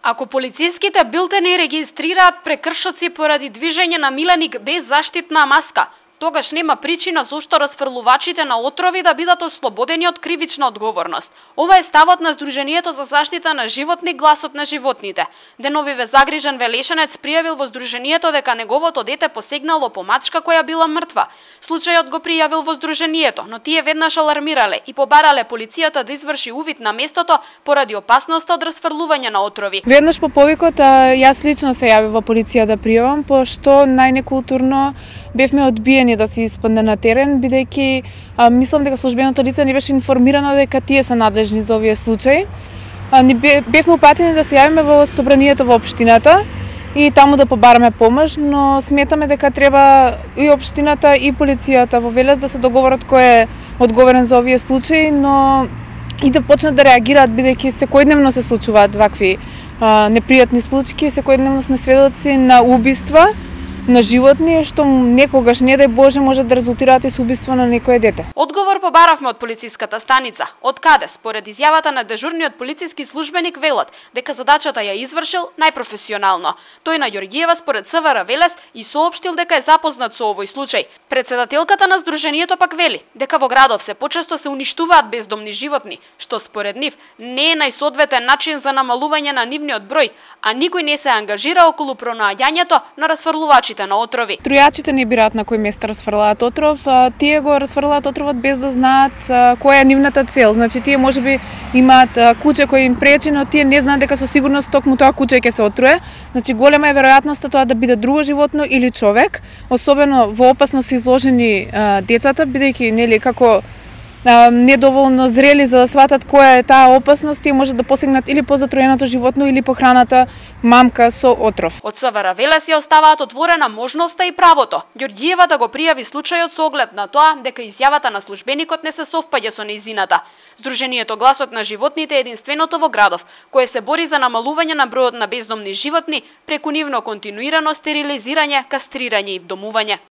Ако полициските билтени регистрираат прекршоци поради движење на миленик без заштитна маска, тогаш нема причина зошто расфрлувачите на отрови да бидат ослободени од кривична одговорност. Ова е ставот на Сдруженијето за заштита на животни Гласот на животните. Деновиве загрижен велешенец пријавил во Сдруженијето дека неговото дете посегнало по мачка која била мртва. Случајот го пријавил во Сдруженијето, но тие веднаш алармирале и побарале полицијата да изврши увид на местото поради опасноста од расфрлување на отрови. Веднаш по повикот јас лично се јавив во полиција да пријавам, пошто најнекултурно бевме одбиени да се испадне на терен, бидејќи мислам дека службеното лице не беше информирано дека тие се надлежни за овие случаи. Бевме упатени да се јавиме во собранието во општината и таму да побараме помош, но сметаме дека треба и општината и полицијата во Велес да се договорат кој е одговорен за овие случаи, но и да почнат да реагираат, бидејќи секојдневно се случуваат вакви непријатни случаи, секојдневно сме сведоци на убиства на животни, што некогаш, не дај Боже, може да резултираат и со убиство на некое дете. Одговор побаравме од полициската станица, од каде, според изјавата на дежурниот полициски службеник, велат дека задачата ја извршил најпрофесионално. Тој на Ѓорѓиева според ЦВР Велес и соопштил дека е запознат со овој случај. Председателката на Сдруженијето пак вели дека во градов се почесто се уништуваат бездомни животни, што според нив не е најсоодветен начин за намалување на нивниот број, а никој не се ангажира околу пронаоѓањето на расфрлувачите на отрови. Трујачите не бираат на кој место расфрлаат отров, тие го расфрлаат отровот без да знаат која е нивната цел. Значи тие можеби имаат куче кој им пречи, но тие не знаат дека со сигурност токму тоа куче ќе се отруе. Значи голема е веројатноста тоа да биде друго животно или човек, особено во опасност изложени децата, бидејќи нели како недоволно зрели за да сватат која е таа опасност, тие може да посегнат или по затроеното животно или по храната мамка со отров. Од ЦВР Велес ја оставаат отворена можноста и правото Ѓорѓиева да го пријави случајот со оглед на тоа дека изјавата на службеникот не се совпаѓа со нејзината. Сдруженијето Гласот на животните е единственото во градов кое се бори за намалување на бројот на бездомни животни преку нивно континуирано стерилизирање, кастрирање и вдомување.